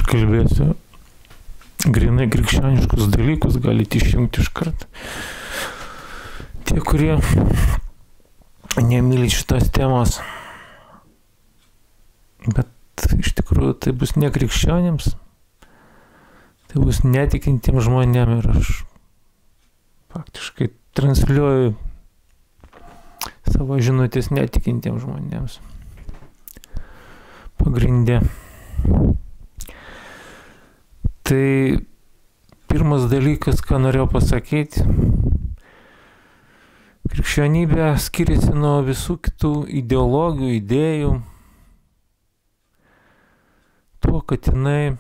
kalbėsiu grinai krikščioniškus dalykus, galite išjungti iš karto. Tie, kurie nemyli šitos temos, bet iš tikrųjų tai bus ne krikščionėms, tai bus netikintiems žmonėms ir aš faktiškai transliuoju savo žinutės netikintiems žmonėms. Pagrindė. Tai pirmas dalykas, ką norėjau pasakyti, krikščionybė skiriasi nuo visų kitų ideologijų, idėjų, tuo, kad jinai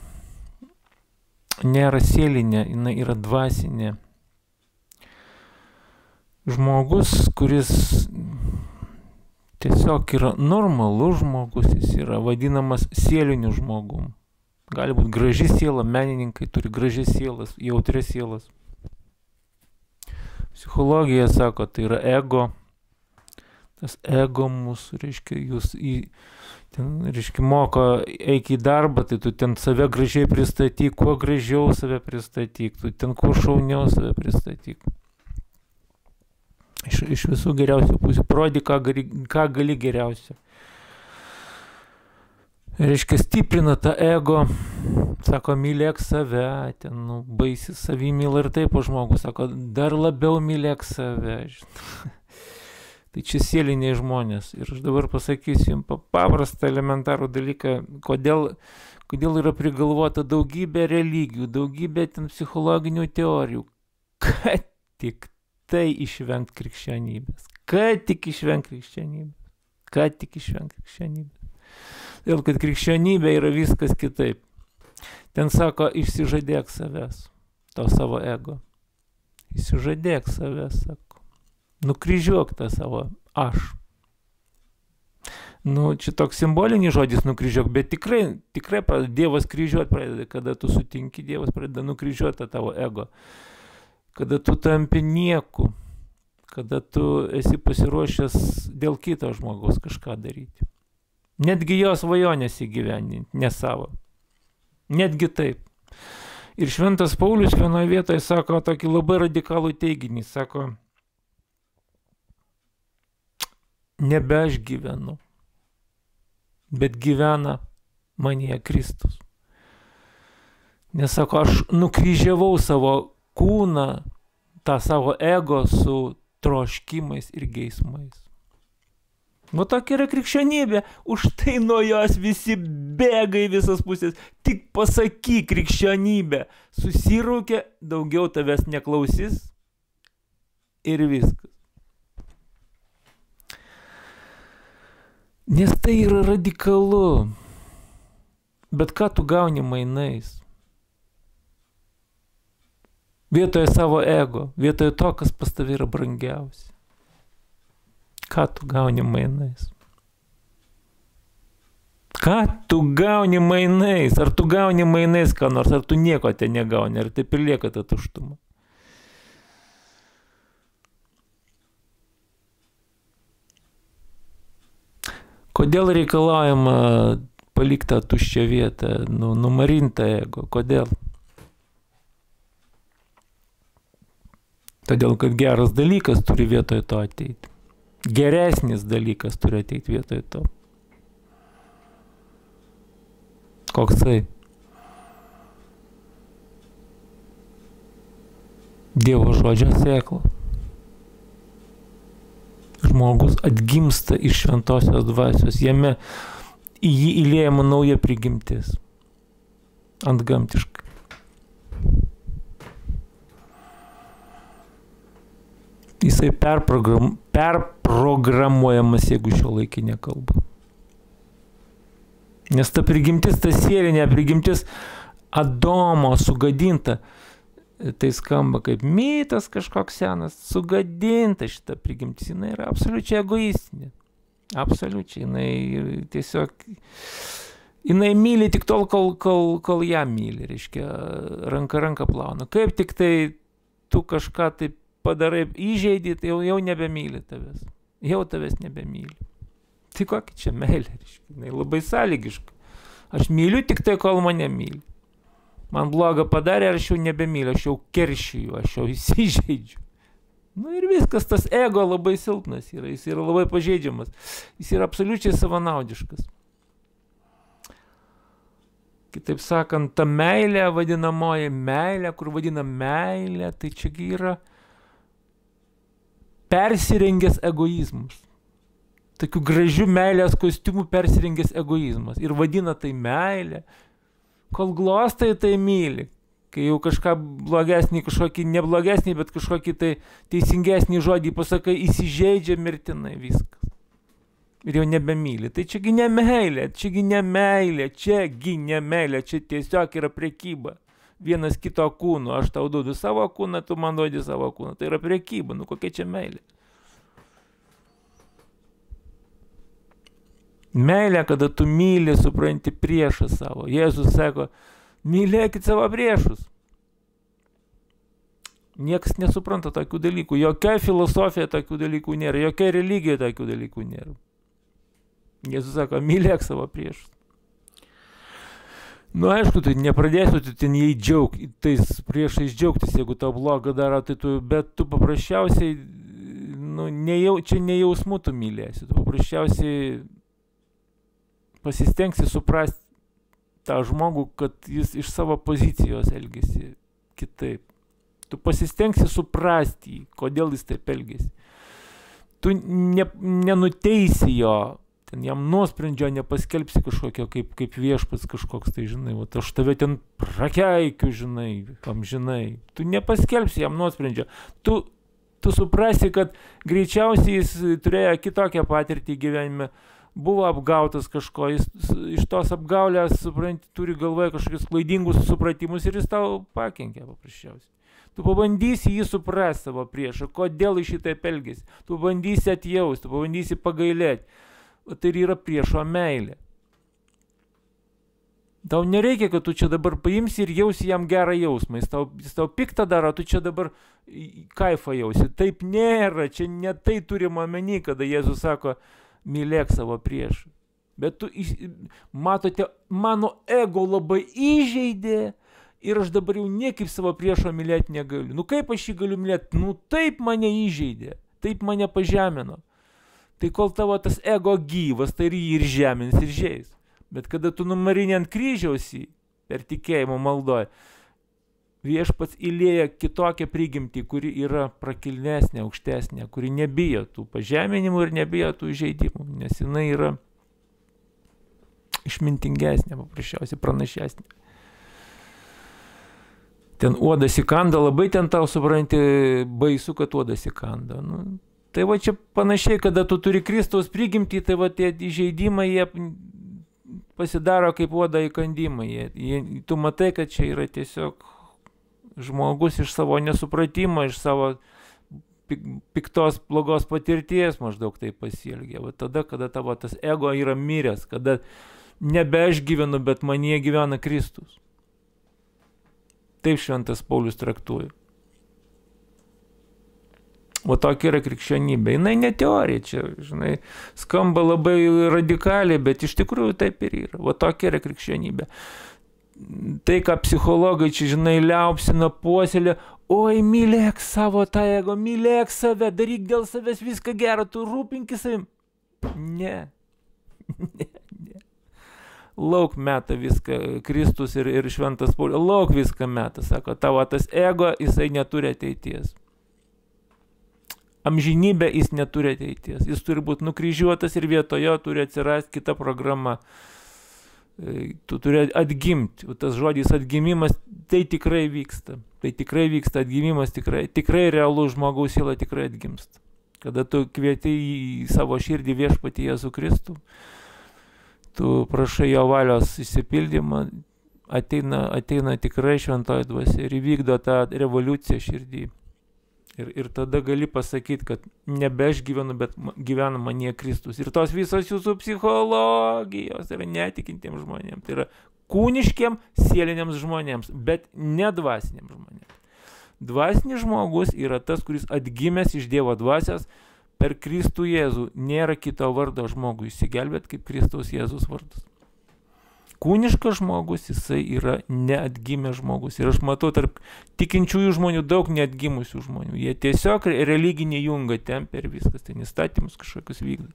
nėra sielinė, jinai yra dvasinė. Žmogus, kuris tiesiog yra normalus žmogus, jis yra vadinamas sieliniu žmogum. Gali būti graži siela, menininkai turi gražias sielas, jautrias sielas. Psichologija sako, tai yra ego. Tas ego mūsų, reiškia, moko eik į darbą, tai tu ten save gražiai pristatyk, kuo gražiau save pristatyk, tu ten kuo šauniau save pristatyk. Iš visų geriausių pusių, parodyk, ką gali geriausio. Reiškia, stiprina tą ego, sako, mylėk save, ten, baisi savimyla ir taip, o žmogus sako, dar labiau mylėk save. Tai čia sieliniai žmonės. Ir aš dabar pasakysiu jums paprastą elementarų dalyką, kodėl yra prigalvota daugybė religijų, daugybė ten psichologinių teorijų, kad tik tai išvengt krikščionybės. Kad tik išvengt krikščionybės. Dėl kad krikščionybė yra viskas kitaip. Ten sako, išsižadėk savęs, to savo ego. Išsižadėk savęs, sako. Nukryžiuok tą savo aš. Čia toks simbolinis žodis nukryžiuok, bet tikrai Dievas kryžiuot pradeda, kada tu sutinki, Dievas pradeda nukryžiuoti tą tavo ego. Kada tu tampi nieku, kada tu esi pasiruošęs dėl kito žmogaus kažką daryti. Netgi jos svajonės įgyvendinti, ne savo. Netgi taip. Ir Šventas Paulius vienoje vietoje sako tokį labai radikalų teiginį, sako, nebe aš gyvenu, bet gyvena manyje Kristus. Nes sako, aš nukryžiavau savo kūną, tą savo ego su troškimais ir geismais. Tokia yra krikščionybė, už tai nuo jos visi bėga į visas pusės. Tik pasakyk krikščionybė, susirūkė, daugiau tavęs neklausys ir viskas. Nes tai yra radikalu. Bet ką tu gauni mainais? Vietoje savo ego, vietoje to, kas pas tavai yra brangiausia. Ką tu gauni mainais? Ką tu gauni mainais? Ar tu gauni mainais ką nors, ar tu nieko te negauni, ar taip ir lieka ta tuštuma? Kodėl reikalaujama palikti tą tuščią vietą, numarintą ego? Kodėl? Todėl, kad geras dalykas turi vietoje to ateiti. Geresnis dalykas turi ateiti vietoje to. Koksai? Dievo žodžio sėkla. Žmogus atgimsta iš šventosios dvasios. Jame į jį įliejama nauja prigimtis. Antgamtiškai. Jisai perprogramuojamas, jeigu šio laikinė kalba. Nes ta prigimtis, ta sielinė prigimtis Adomo sugadinta, tai skamba kaip mitas kažkoks senas, sugadinta šita prigimtis, jinai yra absoliučiai egoistinė. Absoliučiai, jinai tiesiog, jinai myli tik tol, kol ją myli, reiškia, ranka plauna. Kaip tik tai tu kažką taip padarai, įžeidį, tai jau nebemyli tavęs. Jau tavęs nebemyli. Tai kokia čia meilė, reiškia, jinai labai sąlygiška. Aš myliu tik tai, kol mane myli. Man bloga padarė, aš jau nebemyliu, aš jau keršiju, aš jau įsižeidžiu. Nu ir viskas, tas ego labai silpnas yra, jis yra labai pažeidžiamas, jis yra absoliučiai savanaudiškas. Kitaip sakant, ta meilė, vadinamoji meilė, kur vadina meilė, tai čiagi yra persirengęs egoizmas. Tokių gražių meilės kostiumų persirengęs egoizmas. Ir vadina tai meilė. Kol glostai tai myli. Kai jau kažką blogesnį, kažkokį neblogesnį, bet kažkokį tai teisingesnį žodį pasakai, įsižeidžia mirtinai viskas. Ir jau nebemyli. Tai čiagi ne meilė, čiagi ne meilė, čiagi ne meilė, čia tiesiog yra prekyba. Vienas kito kūno, aš tau duodu savo kūną, tu man duodi savo kūną. Tai yra prekyba, nu kokia čia meilė. Meilė, kada tu myli, supranti priešą savo. Jėzus sako, mylėkit savo priešus. Niekas nesupranta tokių dalykų. Jokia filosofija tokių dalykų nėra. Jokia religija tokių dalykų nėra. Jėzus sako, mylėk savo priešus. Nu, aišku, tu nepradėsiu, tu ten jai tais priešais džiaugtis, jeigu tau blogą daro, tai bet tu paprasčiausiai, nu, čia nejausmų tu mylėsi. Tu paprasčiausiai pasistengsi suprasti tą žmogų, kad jis iš savo pozicijos elgesi kitaip. Tu pasistengsi suprasti jį, kodėl jis taip elgesi. Tu nenuteisi jo, ten jam nuosprendžio nepaskelbsi kažkokio kaip viešpats kažkoks, tai žinai, va, aš tave ten prakeikiu, žinai, amžinai. Tu nepaskelbsi jam nuosprendžio. Tu suprasi, kad greičiausiai jis turėjo kitokią patirtį gyvenime, buvo apgautas kažko, jis iš tos apgaulės, supranti, turi galvoje kažkokius klaidingus supratimus ir jis tau pakenkia paprasčiausiai. Tu pabandysi jį suprasti savo priešą, kodėl iš šitaip elgesi. Tu pabandysi atjausti, tu pabandysi pagailėti. Tai yra priešo meilė. Tau nereikia, kad tu čia dabar paimsi ir jausi jam gerą jausmą. Jis tau piktą daro, tu čia dabar kaifą jausi. Taip nėra, čia ne tai turima omeny, kada Jėzus sako, mylėk savo priešą. Bet tu, matote, mano ego labai įžeidė ir aš dabar jau niekaip savo priešo mylėti negaliu. Nu kaip aš jį galiu mylėti? Nu taip mane įžeidė, taip mane pažemino. Tai kol tavo tas ego gyvas, tai ir jį ir žemins, ir žeis. Bet kada tu numarini ant kryžiaus jį, per tikėjimo maldoj, viešpats įlėja kitokią prigimtį, kuri yra prakilnesnė, aukštesnė, kuri nebijo tų pažeminimų ir nebijo tų įžeidimų, nes jinai yra išmintingesnė, paprasčiausiai pranašesnė. Ten uodas įkanda, labai ten tau supranti baisu, kad uodas įkanda. Nu, tai va čia panašiai, kada tu turi Kristaus prigimtį, tai va tie įžeidimai, jie pasidaro kaip uodo įkandimai. Tu matai, kad čia yra tiesiog žmogus iš savo nesupratimo, iš savo piktos, blogos patirties maždaug tai pasielgia. Va tada, kada tavo tas ego yra miręs, kada nebe aš gyvenu, bet manyje gyvena Kristus. Taip šventas Paulius traktuoja. O tokia yra krikščionybė. Jinai ne teorija čia, žinai, skamba labai radikaliai, bet iš tikrųjų taip ir yra. O tokia yra krikščionybė. Tai, ką psichologai čia, žinai, liaupsina, puoselė, oi, mylėk savo tą ego, mylėk save, daryk dėl savęs viską gerą, tu rūpinkis savim. Ne. Lauk meta viską Kristus ir šventas Paulius, lauk viską meta, sako, tavo tas ego, jisai neturi ateities. Amžinybė jis neturi ateities, jis turi būti nukryžiuotas ir vietojo turi atsirasti kita programa. Tu turi atgimti, o tas žodis atgimimas, tai tikrai vyksta. Tai tikrai vyksta atgimimas, tikrai realus žmogaus siela tikrai atgimsta. Kada tu kvieti į savo širdį viešpatį Jėzų Kristų, tu prašai jo valios išsipildymą, ateina tikrai šventoji dvasia ir įvykdo tą revoliuciją širdį. Ir tada gali pasakyti, kad nebe aš gyvenu, bet gyvena manyje Kristus. Ir tos visos jūsų psichologijos yra netikintiems žmonėms. Tai yra kūniškiem, sieliniams žmonėms, bet ne dvasiniams žmonėms. Dvasinis žmogus yra tas, kuris atgimęs iš Dievo dvasios per Kristų Jėzų. Nėra kito vardo žmogui išsigelbėt kaip Kristaus Jėzus vardas. kūniškas žmogus, jisai yra neatgimęs žmogus. Ir aš matau tarp tikinčiųjų žmonių daug neatgimusių žmonių. Jie tiesiog religinį jungą tempia ir viskas, ten įstatymus kažkokius vykdo.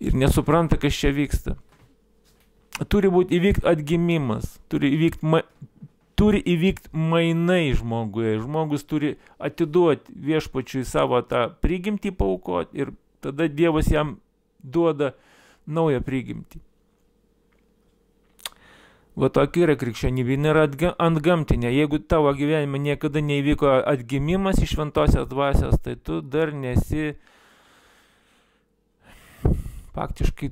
Ir nesupranta, kas čia vyksta. Turi įvykti atgimimas, turi įvykti mainai žmoguje. Žmogus turi atiduoti viešpačiui savo tą prigimtį paaukoti ir tada Dievas jam duoda naują prigimtį. Va tokia yra krikščionybė, nėra antgamtinė. Jeigu tavo gyvenime niekada neįvyko atgimimas iš šventosios dvasios, tai tu dar nesi faktiškai,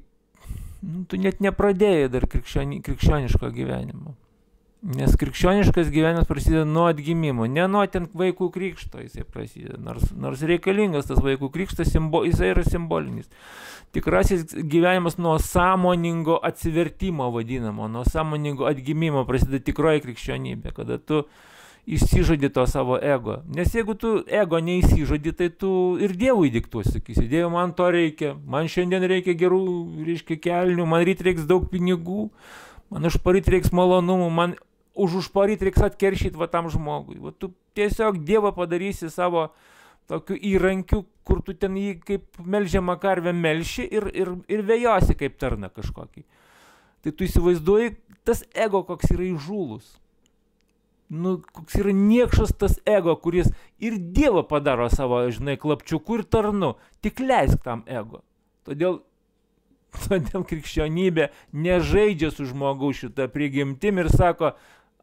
tu net nepradėjai dar krikščioniško gyvenimo. Nes krikščioniškas gyvenimas prasideda nuo atgimimo, ne nuo ten vaikų krikšto jisai prasideda, nors reikalingas tas vaikų krikštas, jisai yra simbolinis. Tikrasis gyvenimas nuo sąmoningo atsivertimo vadinamo, nuo sąmoningo atgimimo prasideda tikroji krikščionybė, kada tu išsižadi to savo ego. Nes jeigu tu ego neįsižadi, tai tu ir Dievui diktuosi, sakysi, Dieve, man to reikia, man šiandien reikia gerų, kelnių, man ryt reiks daug pinigų, man užparyt reiks malonumų, man užparyt reiks atkeršyti va tam žmogui. Va tu tiesiog Dievą padarysi savo tokiu įrankiu, kur tu ten jį kaip melžiamą karvę melši ir vejosi kaip tarna kažkokį. Tai tu įsivaizduoji, tas ego koks yra įžūlus. Koks yra niekšas tas ego, kuris ir Dievą padaro savo, klapčiuku ir tarnu. Tik leisk tam ego. Todėl krikščionybė nežaidžia su žmogaus šitą prigimtim ir sako,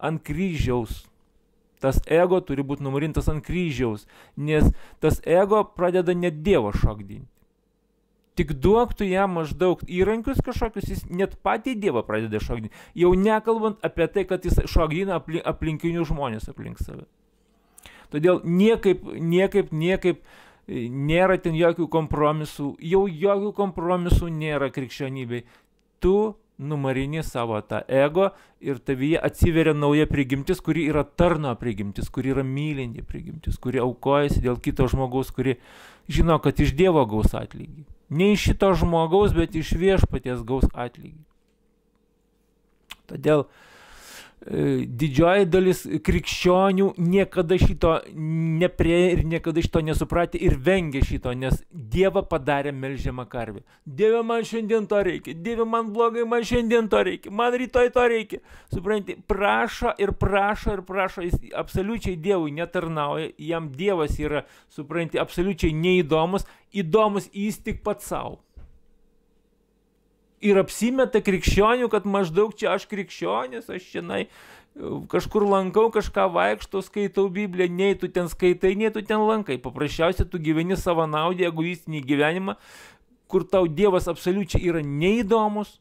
ant kryžiaus. Tas ego turi būti numarintas ant kryžiaus, nes tas ego pradeda net Dievo šokdinti. Tik duok tu jam maždaug įrankius kažkokius, jis net patį Dievą pradeda šokdinti. Jau nekalbant apie tai, kad jis šokdina aplinkinių žmonės aplink save. Todėl niekaip nėra ten jokių kompromisų, jau jokių kompromisų nėra krikščionybei. Tu numarini savo tą ego ir tavyje atsiveria nauja prigimtis, kuri yra tarno prigimtis, kuri yra mylinti prigimtis, kuri aukojasi dėl kito žmogaus, kuri žino, kad iš Dievo gaus atlygį. Ne iš šito žmogaus, bet iš viešpaties gaus atlygį. Todėl didžioji dalis krikščionių niekada šito neprieė ir niekada šito nesupratė ir vengia šito, nes Dievą padarė melžiamą karvę. Dieve, man šiandien to reikia, Dieve, man blogai, man šiandien to reikia, man rytoj to reikia. Supranti, prašo, jis absoliučiai Dievui netarnauja, jam Dievas yra, supranti, absoliučiai neįdomus, įdomus jis tik pats savo. Ir apsimeta krikščionių, kad maždaug čia aš krikščionis, aš šiandien kažkur lankau, kažką vaikštau, skaitau Bibliją, nei tu ten skaitai, nei tu ten lankai. Paprasčiausiai tu gyveni savo naudį, egoistinį gyvenimą, kur tau Dievas absoliučiai yra neįdomus.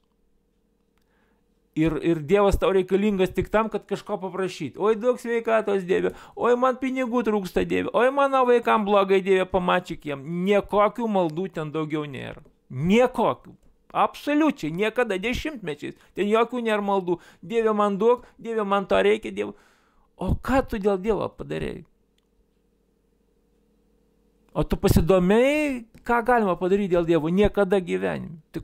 Ir Dievas tau reikalingas tik tam, kad kažko paprašyti. Oi, daug sveikatos, Dieve, oi, man pinigų trūksta, Dieve, oi, mano vaikam blogai, Dieve, pamačiuk jiem. Niekokių maldų ten daugiau nėra. Niekokių. Absoliučiai, niekada, dešimtmečiais. Ten jokių nėra maldų. Dieve, man duok, Dieve, man to reikia, Dieve. O ką tu dėl Dievo padarėjai? O tu pasidomėjai, ką galima padaryti dėl Dievo? Niekada gyvenime. Tai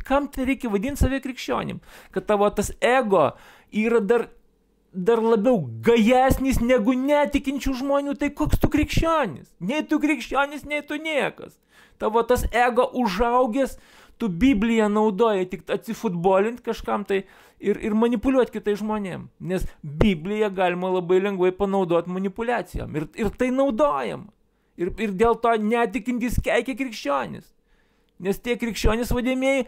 kam tai reikia vadinti save krikščionim? Kad tavo tas ego yra dar labiau gajesnis negu netikinčių žmonių. Tai koks tu krikščionis? Nei tu krikščionis, nei tu niekas. Tavo tas ego užaugęs, tu Bibliją naudoji tik atsifutbolinti kažkam tai ir manipuliuoti kitais žmonėm. Nes Bibliją galima labai lengvai panaudoti manipuliacijom. Ir tai naudojama. Ir dėl to netikintis keikia krikščionis. Nes tie krikščionis vadėmėjai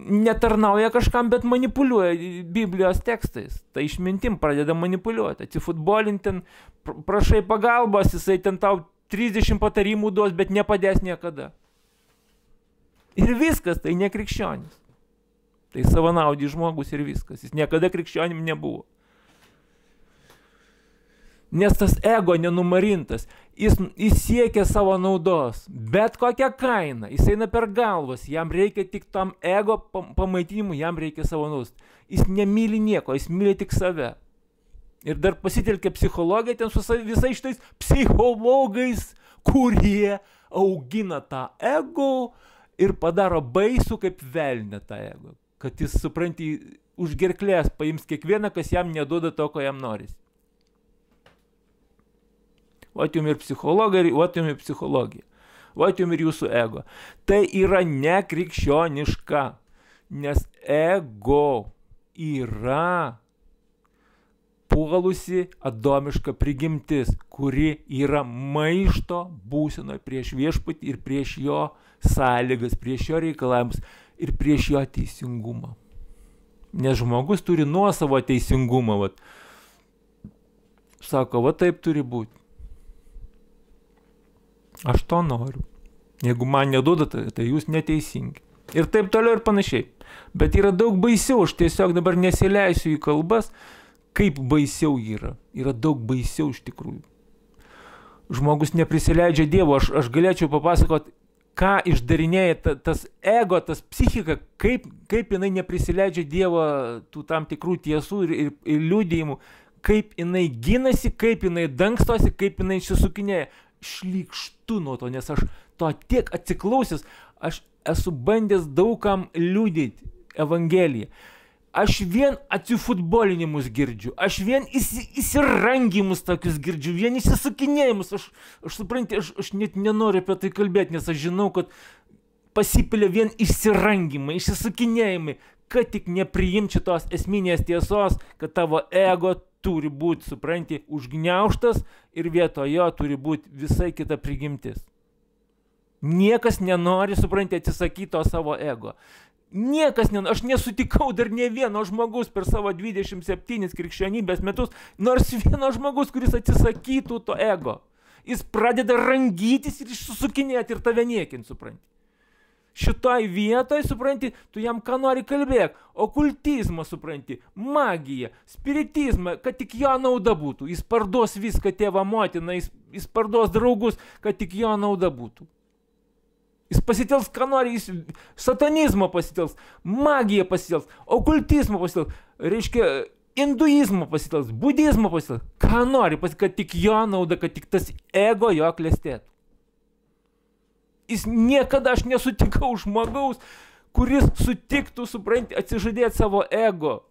netarnauja kažkam, bet manipuliuoja Biblijos tekstais. Tai išmintim pradeda manipuliuoti. Atsifutbolinti ten, prašai pagalbos, jisai ten tau 30 patarimų duos, bet nepadės niekada. Ir viskas, tai ne krikščionis. Tai savanaudis žmogus ir viskas. Jis niekada krikščionim nebuvo. Nes tas ego nenumarintas, jis siekia savo naudos, bet kokią kainą, jis eina per galvas, jam reikia tik tam ego pamaitinimui, jam reikia savo naudos. Jis nemyli nieko, jis myli tik save. Ir dar pasitelkia psichologiją ten su visais šitais psichologais, kurie augina tą ego ir padaro baisų kaip velnę tą ego. kad jis, supranti, už gerklės paims kiekvieną, kas jam neduoda to, ko jam norisi. Vat jums ir psichologija, vat jums ir psichologija. Vat jums ir jūsų ego. Tai yra nekrikščioniška, nes ego yra puolusi adomiška prigimtis, kuri yra maišto būsenoje prieš viešpatį ir prieš jo sąlygas, prieš jo reikalavimus ir prieš jo teisingumą. Nes žmogus turi nuosavo teisingumą. Vat. Sako, va taip turi būti. Aš to noriu. Jeigu man neduodate, tai jūs neteisingi. Ir taip toliau ir panašiai. Bet yra daug baisiau, aš tiesiog dabar nesileisiu į kalbas, kaip baisiau yra. Yra daug baisiau iš tikrųjų. Žmogus neprisileidžia Dievo. Aš galėčiau papasakoti, ką išdarinėja tas ego, tas psichika, kaip jinai neprisileidžia Dievo tų tam tikrų tiesų ir liudijimų, kaip jinai ginasi, kaip jinai dangstosi, kaip jinai išsisukinėja. Šlykštu nuo to, nes aš to tiek atsiklausęs, aš esu bandęs daugam liudyti Evangeliją. Aš vien atsifutbolinimus girdžiu, aš vien įsirangimus tokius girdžiu, vien įsisukinėjimus, aš suprantu, aš net nenoriu apie tai kalbėti, nes aš žinau, kad pasipilė vien įsirangimai, įsisukinėjimai, kad tik nepriimčiau tos esminės tiesos, kad tavo ego turi būti, supranti, užgniaužtas ir vietojo turi būti visai kita prigimtis. Niekas nenori, supranti, atsisakyti to savo ego. Niekas nenori, aš nesutikau dar ne vieno žmogus per savo 27 krikščionybės metus, nors vieno žmogus, kuris atsisakytų to ego. Jis pradeda rangytis ir išsukinėti ir tave niekinti, supranti. Šitoj vietoj, supranti, tu jam ką nori kalbėk, okultizmą, supranti, magiją, spiritizmą, kad tik jo nauda būtų. Jis parduos viską tėvą motiną, jis parduos draugus, kad tik jo nauda būtų. Jis pasitels, ką nori, jis satanizmą pasitels, magiją pasitels, okultizmą pasitels, reiškia, hinduizmą pasitels, budizmą pasitels, ką nori, kad tik jo nauda, kad tik tas ego jo klestėtų. Jis niekada aš nesutikau žmogaus, kuris sutiktų, supranti, atsižadėti savo ego.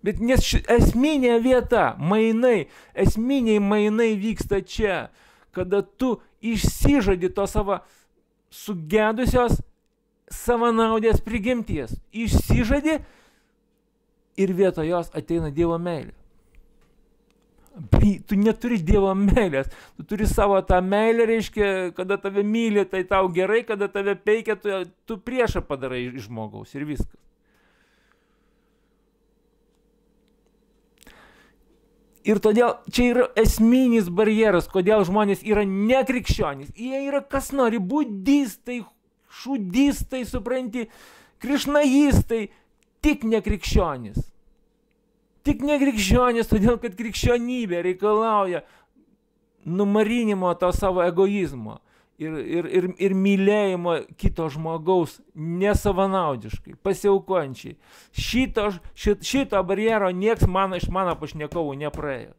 Bet nes esminė vieta, esminiai mainai vyksta čia, kada tu išsižadi to savo sugedusios savanaudės prigimties. Išsižadi ir vietoj jos ateina Dievo meilė. Tu neturi Dievo meilės, tu turi savo tą meilę, reiškia, kada tave myli, tai tau gerai, kada tave peikia, tu priešą padarai iš žmogaus ir viskas. Ir todėl čia yra esminis barjeras, kodėl žmonės yra nekrikščionys. Jie yra kas nori, budistai, šudistai, supranti, krišnajistai, tik nekrikščionys. Tik nekrikščionys, todėl kad krikščionybė reikalauja numarinimo to savo egoizmo ir mylėjimo kito žmogaus nesavanaudiškai, pasiaukojančiai. Šito barjero nieks iš mano pašnekovų nepraėjo.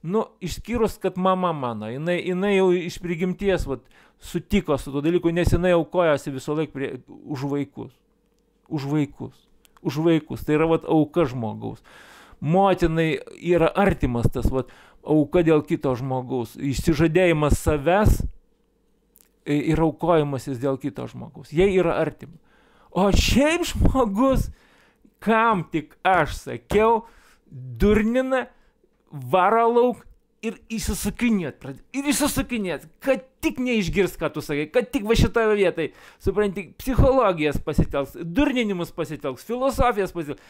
Nu, išskyrus, kad mama mano, jinai jau iš prigimties sutiko su to dalyku, nes jinai aukojosi visą laiką už vaikus. Už vaikus. Tai yra auka žmogaus. Motinai yra artimas tas auka dėl kito žmogaus. Išsižadėjimas savęs ir aukojimasis dėl kito žmogaus. Jie yra artimi. O šiaip žmogus, kam tik aš sakiau, durnina, varo lauk ir įsisukinėt. Ir įsisukinėt, kad tik neišgirs, ką tu sakai, kad tik va šitoje vietai, supranti, psichologijas pasitelks, durninimus pasitelks, filosofijas pasitelks.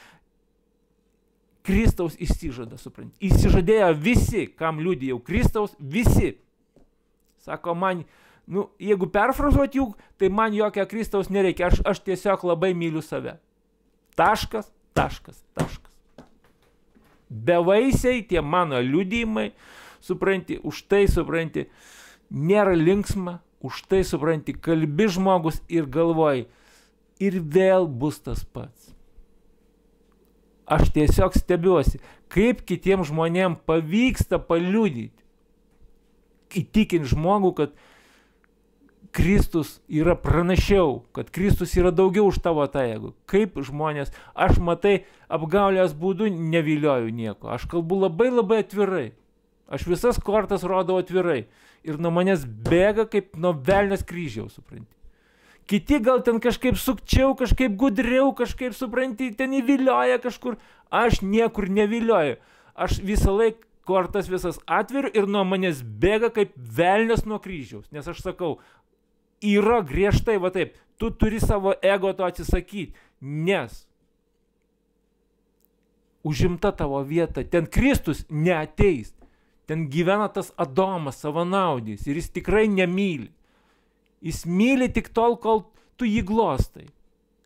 Kristaus išsižada, supranti. Išsižadėjo visi, kam liudijau Kristaus, visi. Sako man, jeigu perfrazuot jų, tai man jokio Kristaus nereikia, aš tiesiog labai myliu save. Taškas. Bevaisiai tie mano liudijimai, supranti, už tai, supranti, nėra linksma, už tai, supranti, kalbi žmogus ir galvoji, ir vėl bus tas pats. Aš tiesiog stebiuosi, kaip kitiems žmonėms pavyksta paliudyti, įtikinti žmogų, kad Kristus yra pranašiau, kad Kristus yra daugiau už tavo tą ego. Kaip žmonės, aš matai, apgaulės būdu nevilioju nieko. Aš kalbu labai atvirai. Aš visas kortas rodau atvirai. Ir nuo manęs bėga kaip nuo velnės kryžiaus, supranti. Kiti gal ten kažkaip sukčiau, kažkaip gudriau, kažkaip, supranti, ten įvilioja kažkur. Aš niekur nevilioju. Aš visą laiką kortas visas atveriu ir nuo manęs bėga kaip velnės nuo kryžiaus. Nes aš sakau, yra griežtai, va taip, tu turi savo ego to atsisakyti, nes užimta tavo vieta, ten Kristus neateis, ten gyvena tas Adomas savanaudis ir jis tikrai nemyli. Jis myli tik tol, kol tu jį glostai.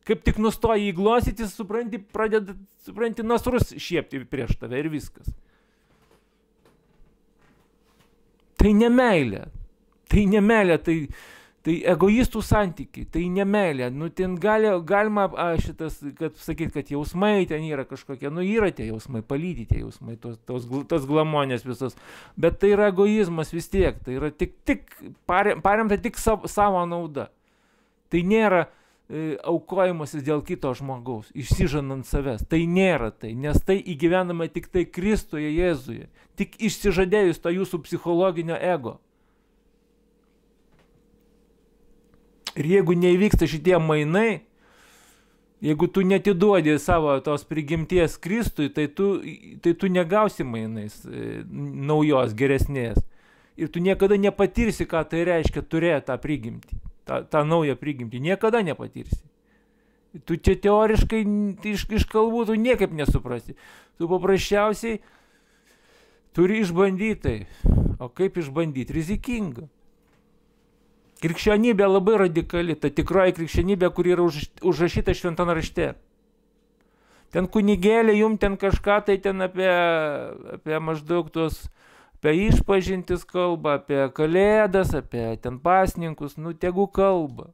Kaip tik nustoji jį glostyti, supranti, pradeda, supranti, nasrus šiepti prieš tave ir viskas. Tai nemeilė, tai egoistų santykiai, tai nemeilė. Nu, ten galima šitas, kad sakyti, kad jausmai ten yra kažkokie, nu yra tie jausmai, palydyti tie jausmai, tos glamonės visos, bet tai yra egoizmas vis tiek, tai yra tik paremta tik savo nauda. Tai nėra aukojimasis dėl kito žmogaus, išsižadant savęs. Tai nėra tai, nes tai įgyvenama tik tai Kristuje Jėzuje, tik išsižadėjus to jūsų psichologinio ego. Ir jeigu neįvyksta šitie mainai, jeigu tu netiduodi savo tos prigimties Kristui, tai tu negausi mainais naujos, geresnės. Ir tu niekada nepatirsi, ką tai reiškia turėti tą prigimtį. tą naują prigimtį, niekada nepatirsi. Tu čia teoriškai iš kalbų tu niekaip nesuprasi. Tu paprasčiausiai turi išbandyti tai. O kaip išbandyti? Rizikinga. Krikščionybė labai radikali, ta tikroji krikščionybė, kuri yra užrašyta šventame rašte. Ten kunigėlė jum ten kažką tai ten apie maždaug tos, apie išpažintis kalba, apie kalėdas, apie ten pasninkus, nu tegu kalba.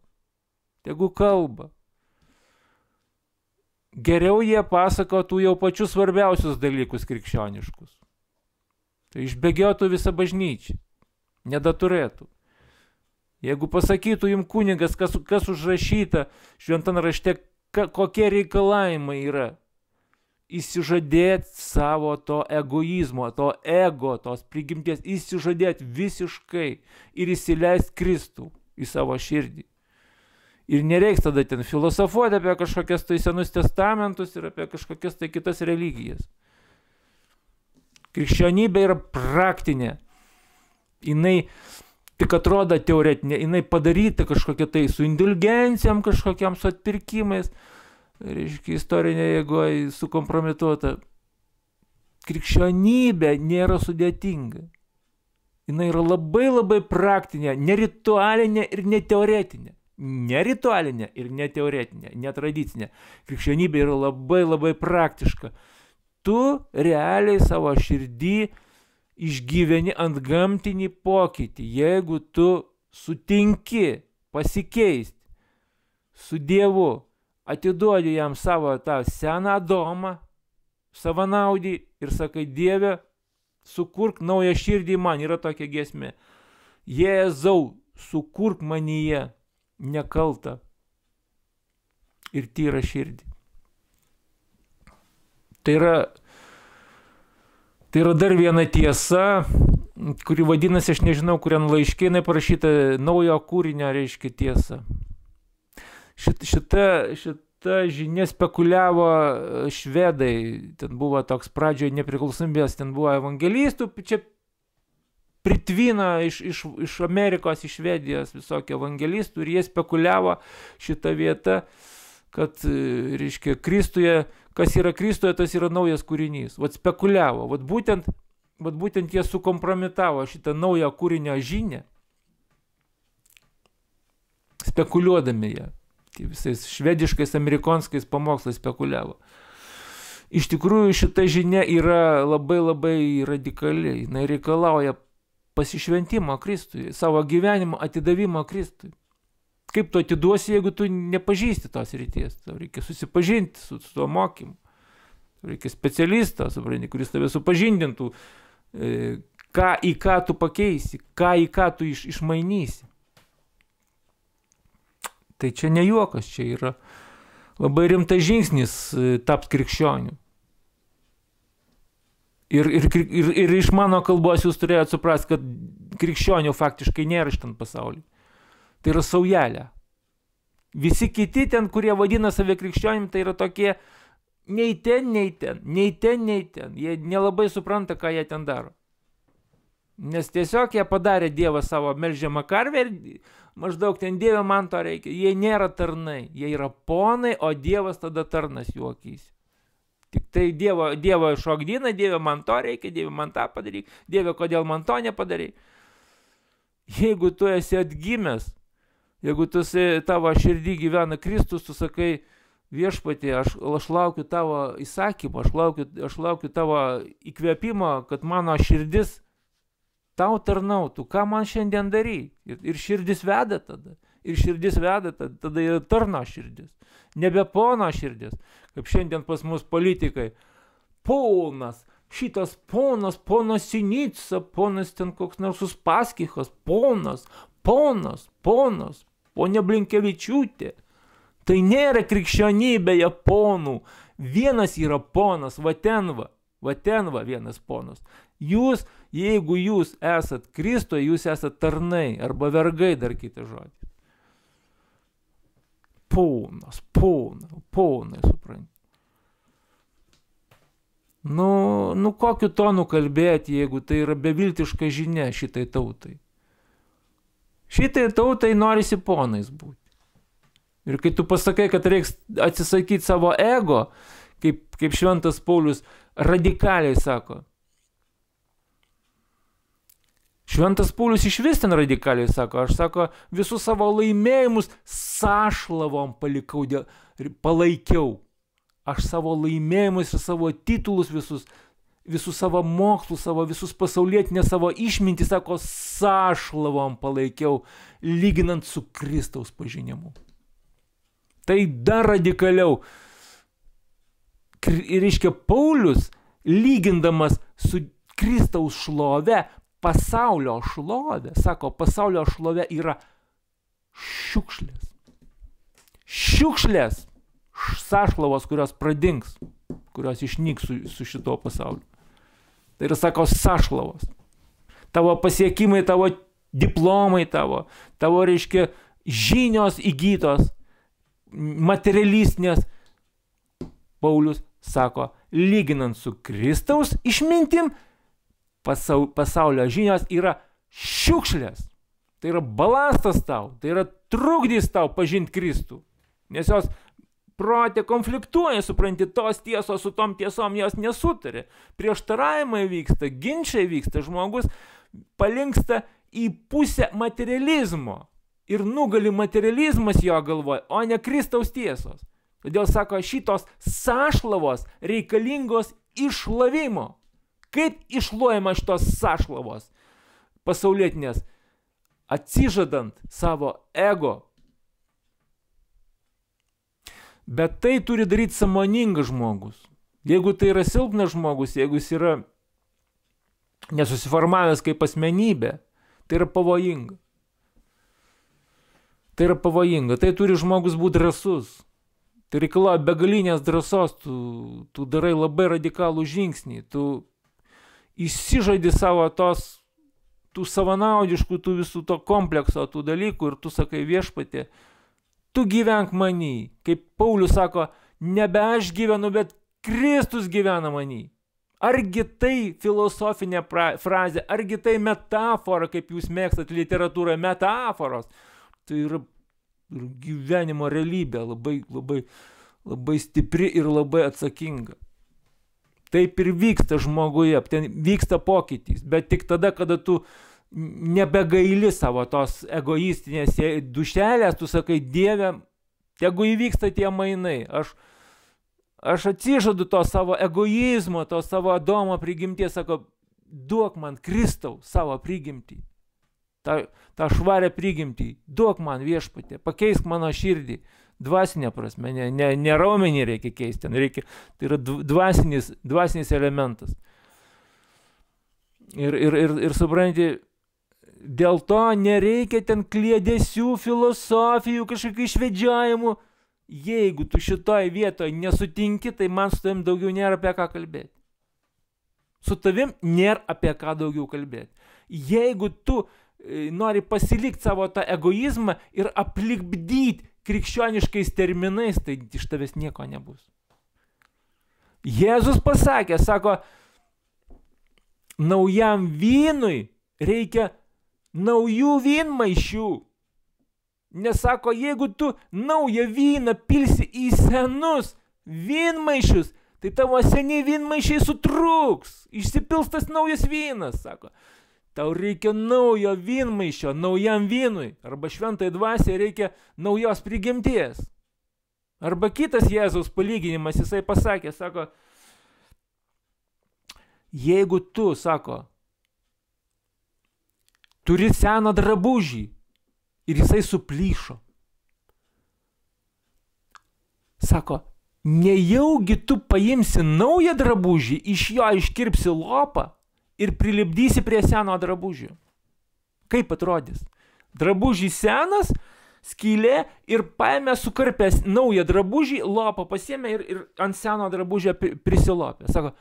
Geriau jie pasakotų jau pačius svarbiausius dalykus krikščioniškus. Tai išbėgiotų visą bažnyčią. Nedaturėtų. Jeigu pasakytų jums kunigas, kas užrašyta šventame rašte, kokie reikalavimai yra, įsižadėti savo to egoizmo, to ego, tos prigimties, įsižadėti visiškai ir įsileisti Kristų į savo širdį. Ir nereiks tada ten filosofuoti apie kažkokias tai senus testamentus ir apie kažkokias tai kitas religijas. Krikščionybė yra praktinė. Jinai tik atrodo teoretinė, jinai padaryta kažkokia tai su indulgencijom, kažkokiam su atpirkimais, reiškia istorinė jėgoje sukompromituota. Krikščionybė nėra sudėtinga. Jinai yra labai praktinė, neritualinė ir neteoretinė. Neritualinė ir neteoretinė, netradicinė. Krikščionybė yra labai praktiška. Tu realiai savo širdį išgyveni antgamtinį pokytį, jeigu tu sutinki pasikeisti su Dievu, atiduodi jam savo tą seną Adomą, savanaudį ir sakai, Dieve, sukurk naują širdį man, yra tokia giesmė. Jėzau, sukurk manyje nekaltą ir tyrą širdį. Tai yra dar viena tiesa, kuri vadinasi, aš nežinau, kuriam laiške jinai parašyta, naujo kūrinio reiškia tiesa. Šita žinia spekuliavo švedai, ten buvo toks pradžioje nepriklausomybės, ten buvo evangelistų, čia pritvino iš Amerikos, iš Švedijos visokių evangelistų ir jie spekuliavo šitą vietą, kad, reiškia, Kristuje, kas yra Kristuje, tas yra naujas kūrinys. Vat spekuliavo, vat būtent jie sukompromitavo šitą naują kūrinio žinią, spekuliuodami ją. Tai visais švediškais, amerikonskais pamokslais spekuliavo. Iš tikrųjų, šita žinia yra labai radikali. Jinai reikalauja pasišventimo Kristui, savo gyvenimo atidavimo Kristui. Kaip tu atiduosi, jeigu tu nepažįsti tos ryties? Tau reikia susipažinti su tuo mokymu. Tau reikia specialisto, supranti, kuris tave supažindintų, į ką tu pakeisi, į ką tu išmainysi. Tai čia ne juokas, čia yra labai rimtas žingsnis tapti krikščioniu. Ir iš mano kalbos jūs turėjote suprasti, kad krikščionių faktiškai nėra šitam pasaulyje. Tai yra saujelė. Visi kiti ten, kurie vadina save krikščionim, tai yra tokie nei ten. Jie nelabai supranta, ką jie ten daro. Nes tiesiog jie padarė Dievą savo melžiamą karvę ir maždaug ten Dieve man to reikia. Jie nėra tarnai, jie yra ponai, o Dievas tada tarnas jų akys. Tik tai Dievo šokdina, Dieve man to reikia, Dieve man tą padaryk, Dieve kodėl man to nepadaryk. Jeigu tu esi atgimęs, jeigu tavo širdį gyvena Kristus, tu sakai, viešpatie, aš laukiu tavo įsakymą, aš laukiu tavo įkvėpimo, kad mano širdis tau tarnautų, ką man šiandien daryti. Ir širdis veda tada. Tada yra tarno širdis. Nebe pono širdis. Kaip šiandien pas mus politikai. Ponas, šitas ponas Sinica, ponas ten koks nors Uspaskichas, ponas, ponia Blinkevičiūtė. Tai nėra krikščionybėje ponų. Vienas yra ponas, va ten vienas ponas. Jūs, jeigu jūs esat Kristoje, jūs esat tarnai arba vergai, dar kitą žodį. Ponai, supranti. Nu kokiu tonu kalbėti, jeigu tai yra beviltiška žinia šitai tautai. Šitai tautai norisi ponais būti. Ir kai tu pasakai, kad reiks atsisakyti savo ego, kaip šventas Paulius radikaliai sako. Šventas Paulius iš vis ten radikaliai sako, aš sako, visus savo laimėjimus sąšlavom palaikiau. Aš savo laimėjimus ir savo titulus visus savo mokslus, visus pasaulietinę savo išmintį, sako, sąšlavom palaikiau, lyginant su Kristaus pažinimu. Tai dar radikaliau. Ir reiškia, Paulius, lygindamas su Kristaus šlove, pasaulio šlovė, sako, pasaulio šlovė yra šiukšlės. Šiukšlės, sąšlavos, kurios pradings, kurios išnyks su šito pasauliu. Tai yra, sako, sąšlavos. Tavo pasiekimai, tavo diplomai, tavo reiškia, žinios įgytos, materialistinės. Paulius sako, lyginant su Kristaus išmintim, pasaulio žinios yra šiukšlės. Tai yra balastas tau, tai yra trukdys tau pažinti Kristų. Nes jos prote konfliktuoja, supranti, tos tiesos su tom tiesom jos nesutarė. Prieštaravimai vyksta, ginčiai vyksta, žmogus palinksta į pusę materializmo. Ir nugali materializmas jo galvoje, o ne Kristaus tiesos. Todėl sako, šitos sąšlavos reikalingos išlavimo. Kaip išluojama šitos sąšlavos pasaulietinės? Atsižadant savo ego. Bet tai turi daryti sąmoningas žmogus. Jeigu tai yra silpnas žmogus, jeigu jis yra nesusiformavęs kaip asmenybė, tai yra pavojinga. Tai turi žmogus būti drąsus. Tai reikalauja begalinės drąsos, tu darai labai radikalų žingsnį, tu išsižadi savo tų savanaudiškų, tų visų to komplekso, tų dalykų ir tu sakai, viešpatie, tu gyvenk manį. Kaip Paulius sako, nebe aš gyvenu, bet Kristus gyvena manį. Argi tai filosofinė frazė, argi tai metafora, kaip jūs mėgstat literatūroje, metaforos. Tai yra gyvenimo realybė, labai stipri ir labai atsakinga. Taip ir vyksta žmoguje, ten vyksta pokytis, bet tik tada, kada tu nebegaili savo tos egoistinės dušelės, tu sakai, Dieve, tegu įvyksta tie mainai, aš atsižadu to savo egoizmo, to savo Adomo prigimties, sako, duok man Kristaus savo prigimtį, tą švarę prigimtį, duok man viešpatie, pakeisk mano širdį. Dvasinė prasme, ne raumenį reikia keisti, tai yra dvasinis elementas. Ir supranti, Dėl to nereikia ten kliedesių, filosofijų, kažkokių išvedžiojimų. Jeigu tu šitoj vietoje nesutinki, tai man su tavim daugiau nėra apie ką kalbėti. Su tavim nėra apie ką daugiau kalbėti. Jeigu tu nori pasilikti savo tą egoizmą ir aplikbdyti krikščioniškais terminais, tai iš tavęs nieko nebus. Jėzus pasakė, sako, naujam vynui reikia naujų vynmaišių. Nesako, jeigu tu naują vyną pilsi į senus vynmaišius, tai tavo seniai vynmaišiai sutrūks, išsipils tas naujas vynas, sako. Tau reikia naujo vynmaišio, naujam vynui, arba šventai dvasiai reikia naujos prigimties. Arba kitas Jėzaus palyginimas, jisai pasakė, sako, jeigu tu, sako, turi seną drabužį ir jisai suplyšo, sako, nejaugi tu paimsi naują drabužį, iš jo iškirpsi lopą ir prilipdysi prie seno drabužio. Kaip atrodys? Drabužį senas, skylė ir paėmė sukarpęs naują drabužį, lopą pasiėmė ir ant seno drabužio prisilopė. Sako,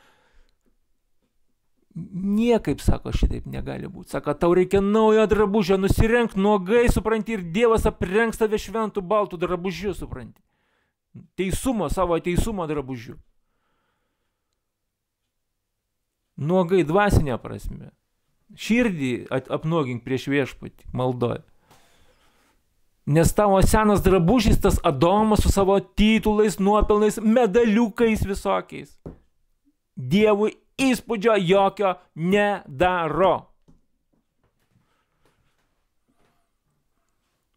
niekaip, sako, šitaip negali būti. Sako, tau reikia naujo drabužio, nusirenk nuogai, supranti, ir Dievas aprengs tave šventų baltų drabužių, supranti. Teisumo, savo teisumo drabužių. Nuogai dvasinė prasme. Širdį apnuogink prieš viešpatį, maldoje. Nes tavo senas drabužis, tas Adomas su savo titulais, nuopelnais, medaliukais visokiais, Dievui įspūdžio jokio nedaro.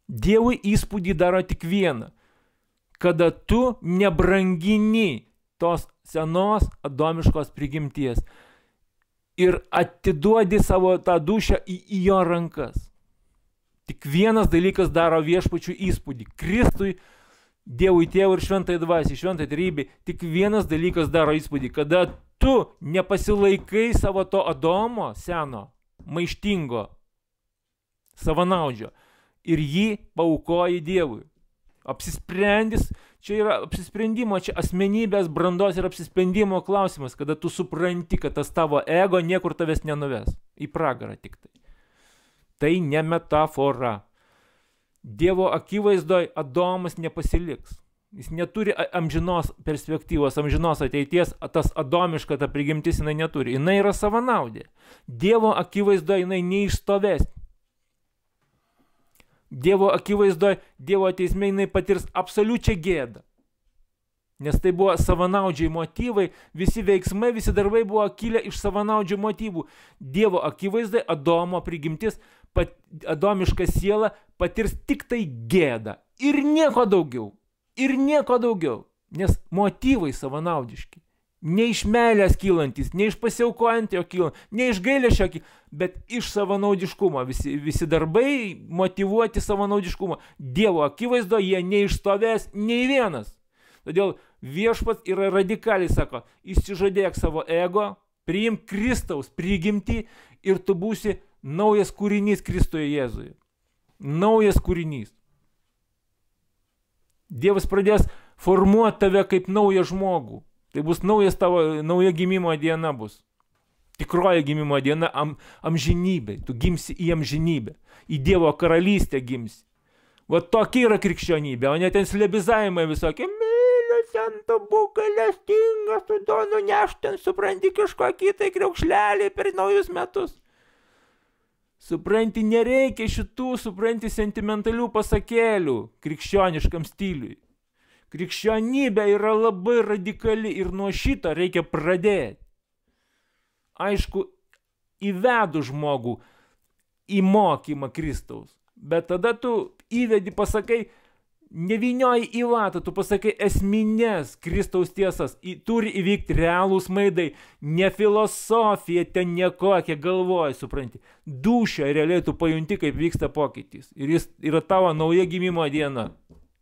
Dievui įspūdį daro tik vieną, kada tu nebrangini tos senos adomiškos prigimties ir atiduodi savo tą dušią į jo rankas. Tik vienas dalykas daro viešpačių įspūdį. Kristui, Dievui Tėvui ir šventai dvasiai, šventai trejybei, tik vienas dalykas daro įspūdį, kada tu nepasilaikai savo to Adomo seno, maištingo, savanaudžio ir jį paaukoji Dievui. Apsisprendis, čia yra apsisprendimo, čia asmenybės brandos ir apsisprendimo klausimas, kada tu supranti, kad tas tavo ego niekur tavęs nenuves, į pragarą tik tai. Tai ne metafora. Dievo akivaizdoje Adomas nepasiliks. Jis neturi amžinos perspektyvos, amžinos ateities, tas adomiška ta prigimtis jinai neturi. Jinai yra savanaudė. Dievo akivaizdoje jinai neišstovės. Dievo akivaizdoje, Dievo teisme jinai patirs absoliučią gėdą. Nes tai buvo savanaudžiai motyvai, visi veiksmai, visi darbai buvo kilę iš savanaudžių motyvų. Dievo akivaizdoje Adomo prigimtis, adomiška siela patirs tik tai gėdą. Ir nieko daugiau. Ir nieko daugiau. Nes motyvai savanaudiški. Ne iš meilės kylantis, ne iš pasiaukojant jo kylant, ne iš gailesčio, bet iš savanaudiškumo. Visi darbai motyvuoti savanaudiškumo. Dievo akivaizdo jie neišstovės nei vienas. Todėl viešpats yra radikaliai, sako, išsižadėk savo ego, priimk Kristaus prigimtį ir tu būsi naujas kūrinys Kristuje Jėzuje. Naujas kūrinys. Dievas pradės formuoti tave kaip naują žmogų. Tai bus nauja gimimo diena bus. Tikroji gimimo diena amžinybė. Tu gimsi į amžinybę. Į Dievo karalystę gimsi. Va tokia yra krikščionybė, o ne ten slebizavimai visokie. Mylius ant būka lestingas, tu duonu nešten, supranti kažkokį tai kriaukšlelį per naujus metus. Supranti, nereikia šitų, supranti, sentimentalių pasakėlių krikščioniškam stiliui. Krikščionybė yra labai radikali ir nuo šito reikia pradėti. Aišku, įvedu žmogų į mokymą Kristaus, bet tada tu įvedi, pasakai, nevynioji į vatą, tu pasakai esminės Kristaus tiesas, turi įvykti realūs maidai, ne filosofija, ten nekokia galvoja, supranti. Dūšia realiai tu pajunti, kaip vyksta pokytis. Ir jis yra tavo nauja gimimo diena.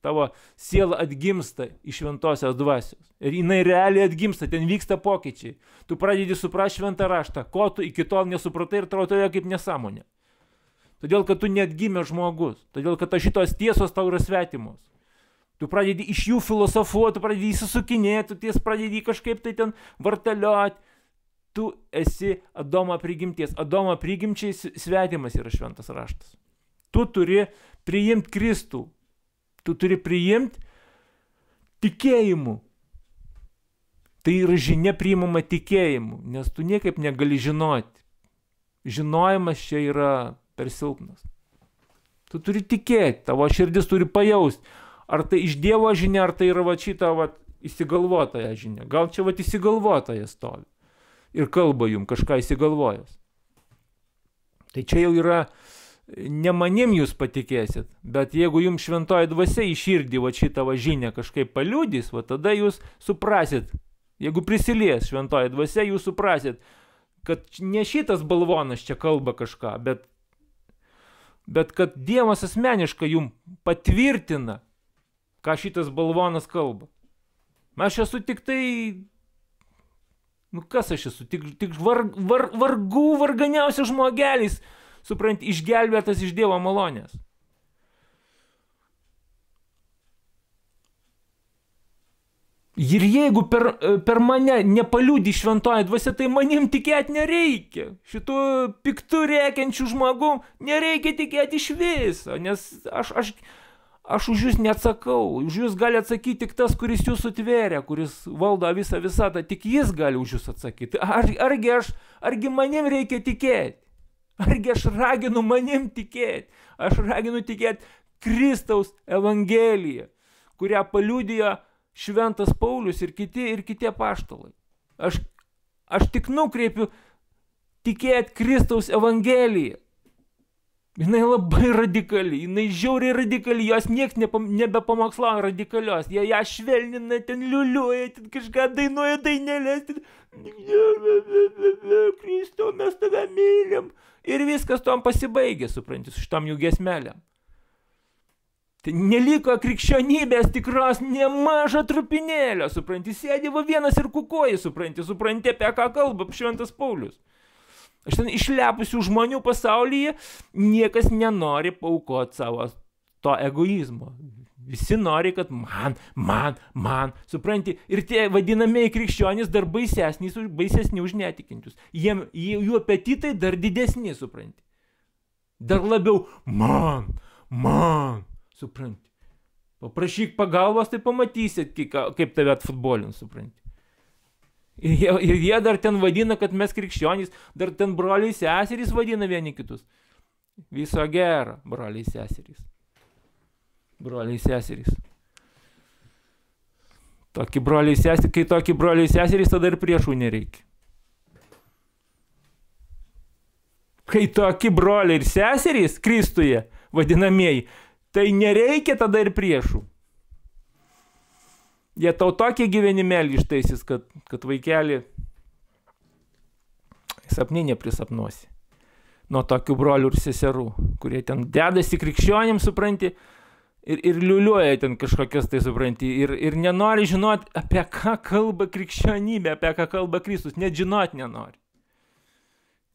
Tavo siela atgimsta iš šventosios dvasios. Ir jinai realiai atgimsta, ten vyksta pokyčiai. Tu pradedi suprasti šventą raštą, ko tu iki tol nesupratai ir atrodo kaip nesąmonė. Todėl, kad tu neatgimė žmogus. Todėl, kad šitos tiesos tau yra svetimos. Tu pradedi iš jų filosofuoti, tu pradedi įsisukinėti, tu ties pradedi kažkaip tai ten vartalioti. Tu esi Adomo prigimties. Adomo prigimčiai svetimas yra šventas raštas. Tu turi priimti Kristų. Tu turi priimti tikėjimu. Tai yra žinia priimama tikėjimu, nes tu niekaip negali žinoti. Žinojimas čia yra per silpnas. Tu turi tikėti, tavo širdis turi pajausti. Ar tai iš Dievo žinia, ar tai yra va šita va įsigalvotoja žinia. Gal čia va įsigalvotoja stovi ir kalba jum kažką įsigalvojęs. Tai čia jau yra, ne manim jūs patikėsit, bet jeigu jums šventoji dvasia į širdį va šitą va žinią kažkaip paliudys, va tada jūs suprasit, jeigu prisilies šventoji dvasia, jūs suprasit, kad ne šitas balvonas čia kalba kažką, bet kad Dievas asmeniškai jums patvirtina, ką šitas balvonas kalba. Aš esu tik tai, kas aš esu, tik varganiausias žmogelis, supranti, išgelbėtas iš Dievo malonės. Ir jeigu per mane nepaliūdi šventoji dvasia, tai manim tikėti nereikia. Šitų piktų rėkiančių žmogų nereikia tikėti iš viso, nes aš už jūs neatsakau. Už jūs gali atsakyti tik tas, kuris jūs sutvėrė, kuris valdo visą visatą, tik jis gali už jūs atsakyti. Argi manim reikia tikėti? Argi aš raginu manim tikėti? Aš raginu tikėti Kristaus Evangeliją, kurią paliudijo šventas Paulius ir kiti apaštalai. Aš tik nukreipiu tikėti Kristaus Evangeliją. Jinai labai radikali, jinai žiauriai radikali, jos nieks nebepamokslauja radikalios. Jie ją švelnina, ten liuliuoja, ten kažką dainuoja dainelės, ten Kristau, mes tave mylim. Ir viskas tom pasibaigė, supranti, su šitom jų giesmelėm. Tai neliko krikščionybės tikros nemažą trupinėlio, supranti, sėdi va vienas ir kukuoji, supranti, apie ką kalba šventas Paulius. Aš ten išlepusių žmonių pasaulyje niekas nenori paukoti savo to egoizmo. Visi nori, kad man, supranti, ir tie vadinamieji krikščionys dar baisesni už netikinčius. Jų apetitai dar didesni, supranti. Dar labiau man, supranti. Paprašyk pagalbos, tai pamatysit, kaip tave atfutbolins, supranti. Ir jie dar ten vadina, kad mes krikščionys, dar ten broliai seserys vadina vieni kitus. Viso gero, broliai seserys. Broliai seserys. Kai tokie broliai seserys, tada ir priešų nereikia. Kai tokie broliai ir seserys Kristuje vadinamieji, tai nereikia tada ir priešų. Jie tau tokie gyvenimėlį ištaisys, kad vaikelį sapnį neprisapnuosi. Nuo tokių brolių ir seserų, kurie ten dedasi krikščionim, supranti, ir liuliuoja ten kažkokias tai, supranti, ir nenori žinoti, apie ką kalba krikščionybė, apie ką kalba Kristus, net žinoti nenori.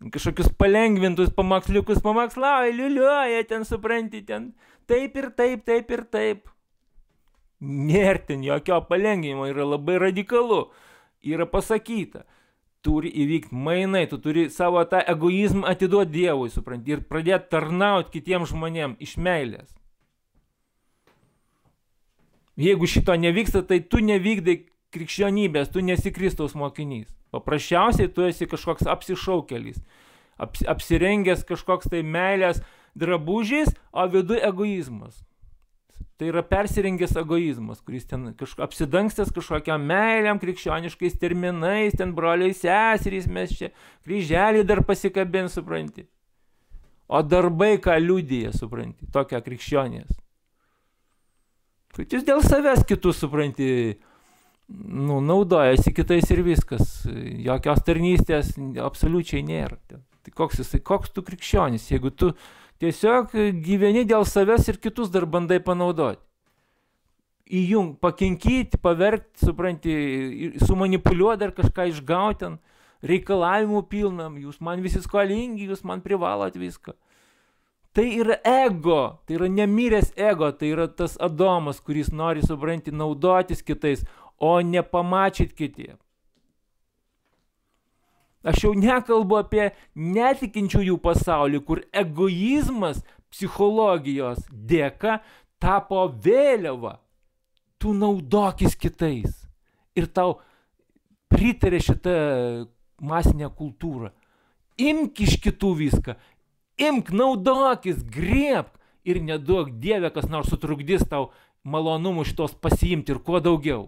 Kažkokius palengvintus pamoksliukus pamokslauja, liuliuoja ten, supranti, ten taip ir taip. Nėra ten jokio palengvinimo, yra labai radikalu. Yra pasakyta, turi įvykti mainai, tu turi savo tą egoizmą atiduoti Dievui, supranti, ir pradėti tarnauti kitiems žmonėms iš meilės. Jeigu šito nevyksta, tai tu nevykdai krikščionybės, tu nesi Kristaus mokinys. Paprasčiausiai tu esi kažkoks apsišaukėlis, apsirengęs kažkoks tai meilės drabužiais, o viduj egoizmas. Tai yra persirengęs egoizmas, kuris ten apsidangstęs kažkokiam meiliam krikščioniškais terminais, ten broliai seserys, mes čia kryželį dar pasikabin, supranti. O darbai, ką liudija, supranti, tokia krikščionės. Tai jis dėl savęs kitus, supranti, naudojasi kitais ir viskas. Jokios tarnystės absoliučiai nėra. Tai koks tu krikščionis, jeigu tu tiesiog gyveni dėl savęs ir kitus dar bandai panaudoti. Pakinkyti, paverkti, supranti, sumanipuliuoti dar kažką išgauti ten, reikalavimų pilnam, jūs man visi skolingi, jūs man privalot viską. Tai yra ego, tai yra nemiręs ego, tai yra tas Adomas, kuris nori, supranti, naudotis kitais, o ne pamačyti kitiem. Aš jau nekalbu apie netikinčiųjų pasaulį, kur egoizmas psichologijos dėka tapo vėliava. Tu naudokis kitais. Ir tau pritarė šitą masinę kultūrą. Imk iš kitų viską. Imk, naudokis, griebk. Ir neduok Dieve, kas nors sutrukdys tau malonumų šitos pasiimti ir kuo daugiau.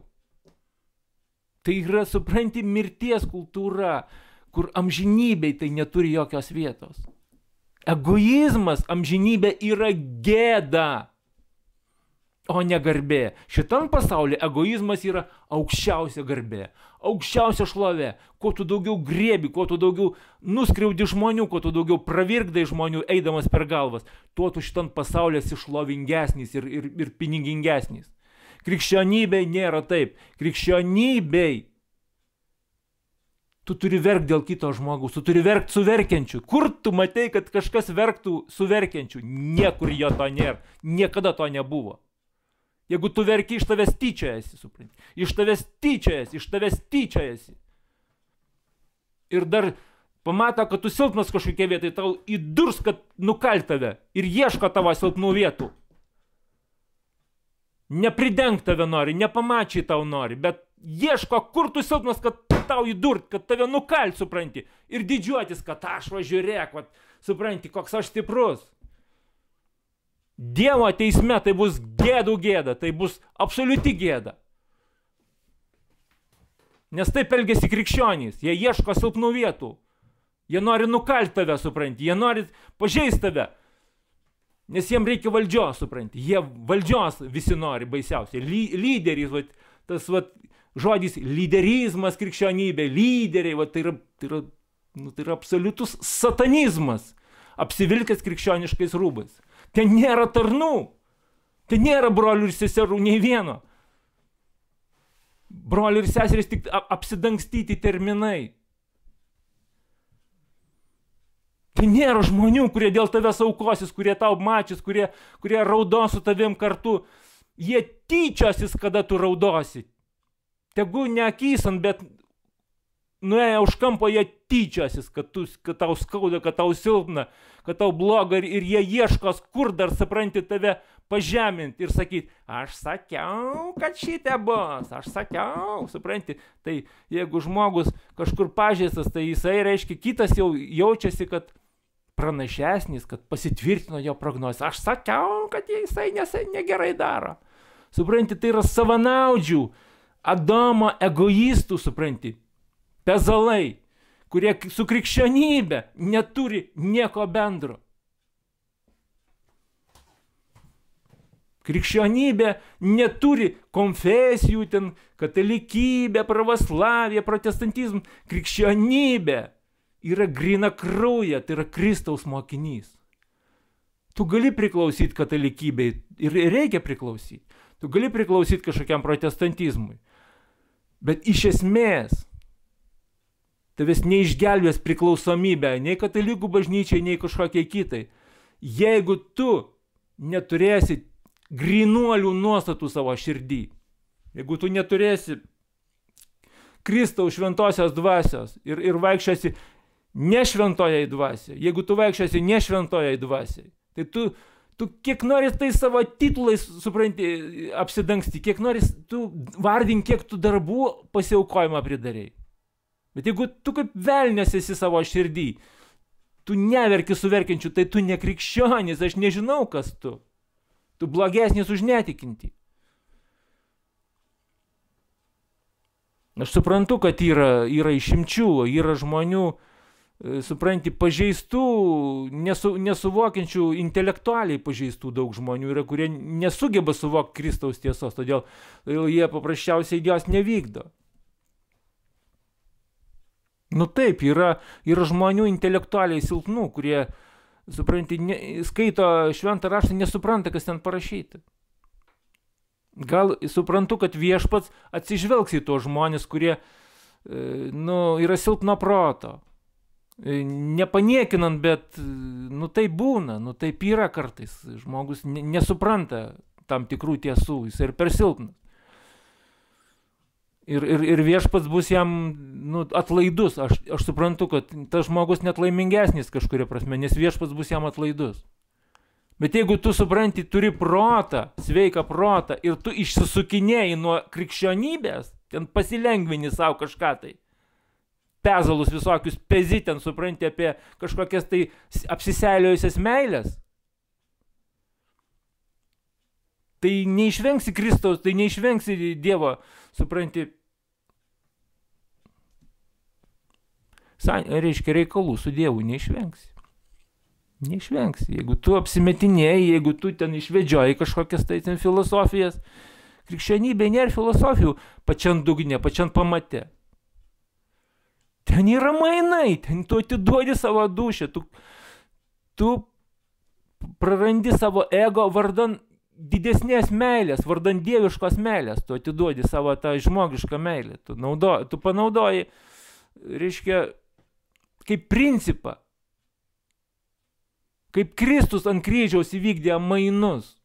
Tai yra, supranti, mirties kultūra, kur amžinybei tai neturi jokios vietos. Egoizmas amžinybė yra gėda, o ne garbė. Šitam pasaulyje egoizmas yra aukščiausia garbė, aukščiausia šlovė. Kuo tu daugiau griebi, kuo tu daugiau nuskriaudi žmonių, kuo tu daugiau pravirkdai žmonių eidamas per galvas, tuo tu šitam pasaulyje esi šlovingesnis ir pinigingesnis. Krikščionybei nėra taip. Krikščionybei tu turi verkti dėl kito žmogaus, tu turi verkti su verkiančiu. Kur tu matei, kad kažkas verktų su verkiančiu? Niekur jo to nėra. Niekada to nebuvo. Jeigu tu verki, iš tavęs tyčiojasi, supranti. Iš tavęs tyčiojasi. Ir dar pamato, kad tu silpnas kažkokie vietai, tau įdurs, kad nukalt tave ir ieško tavo silpnų vietų. Neprideng tave nori, nepamačiai tau nori, bet ieško, kur tu silpnas, kad tau įdurt, kad tave nukalt, supranti. Ir didžiuotis, kad aš važiuorėk, supranti, koks aš stiprus. Dievo teisme tai bus gėdų gėda, tai bus absoliuti gėda. Nes taip elgiasi krikščionys, jie ieško silpnų vietų. Jie nori nukalt tave, supranti, jie nori pažeisti tave. Nes jiems reikia valdžios, supranti. Jie valdžios visi nori baisiausiai. Lyderis, tas žodis lyderizmas krikščionybė, lyderiai, tai yra absoliutus satanizmas, apsivilkęs krikščioniškais rūbais. Ten nėra tarnų, ten nėra brolių ir seserų nei vieno. Brolių ir seserys tik apsidangstyti terminai. Tai nėra žmonių, kurie dėl tavęs aukosis, kurie tau mačys, kurie raudos su tavim kartu. Jie tyčiosis, kada tu raudosi. Tegu neakysant, bet nuėję už kampo jie tyčiosis, kad tau skauda, kad tau silpna, kad tau bloga ir jie ieškos, kur dar, supranti, tave pažeminti ir sakyti, aš sakiau, kad šitie bus, aš sakiau, supranti. Tai jeigu žmogus kažkur pažeistas, tai jisai reiškia, kitas jau jaučiasi, kad pranašesnis, kad pasitvirtino jo prognozę. Aš sakiau, kad jisai negerai daro. Supranti, tai yra savanaudžių, Adomo egoistų, supranti, pezalai, kurie su krikščionybė neturi nieko bendro. Krikščionybė neturi konfesijų, ten katalikybė, pravoslavija, protestantizm. Krikščionybė yra gryna krauja, tai yra Kristaus mokinys. Tu gali priklausyti katalikybei ir reikia priklausyti. Tu gali priklausyti kažkokiam protestantizmui. Bet iš esmės tavęs neišgelbės priklausomybę nei katalikų bažnyčiai, nei kažkokiai kitai. Jeigu tu neturėsi grynuolių nuostatų savo širdį, jeigu tu neturėsi Kristaus šventosios dvasios ir vaikščiosi nešventojai dvasiai, jeigu tu vaikščiosi nešventojai dvasiai, tai tu kiek nori tai savo titulais, supranti, apsidangsti, kiek nori tu vardink, kiek tu darbų pasiaukojimą pridarei. Bet jeigu tu kaip velnias esi savo širdį, tu neverki su verkiančiu, tai tu nekrikščionis, aš nežinau, kas tu. Tu blogesnis už netikinti. Aš suprantu, kad yra išimčių, yra žmonių, supranti, pažeistų, nesuvokiančių, intelektualiai pažeistų daug žmonių yra, kurie nesugeba suvokti Kristaus tiesos, todėl jie paprasčiausiai jos nevykdo. Nu taip, yra žmonių intelektualiai silpnų, kurie, supranti, skaito šventą raštą, nesupranta, kas ten parašyta. Gal suprantu, kad viešpats atsižvelgs į tuos žmonės, kurie yra silpno proto. nepaniekinant, bet, nu tai būna, nu taip yra kartais. Žmogus nesupranta tam tikrų tiesų, jis ir per silpnas. Ir viešpats bus jam atlaidus. Aš suprantu, kad tas žmogus net laimingesnis kažkuria prasme, nes viešpats bus jam atlaidus. Bet jeigu tu supranti, turi protą, sveiką protą, ir tu išsisukinėjai nuo krikščionybės, ten pasilengvini savo kažką tai, pezalus visokius pezi, ten supranti apie kažkokias tai apsiseiliojusias meilės, tai neišvengsi Kristaus, tai neišvengsi Dievo, supranti, reiškia reikalų su Dievu neišvengsi. Neišvengsi. Jeigu tu apsimetinėjai, jeigu tu ten išvedžioji kažkokias tai ten filosofijas, krikščionybė nėra filosofijų pačiam dugne, pačiam pamate. Ten yra mainai, ten tu atiduodi savo dūšią, tu prarandi savo ego vardan didesnės meilės, vardan dieviškos meilės, tu atiduodi savo tą žmogišką meilę, tu panaudoji, reiškia, kaip principą, kaip Kristus ant kryžiaus įvykdė mainus.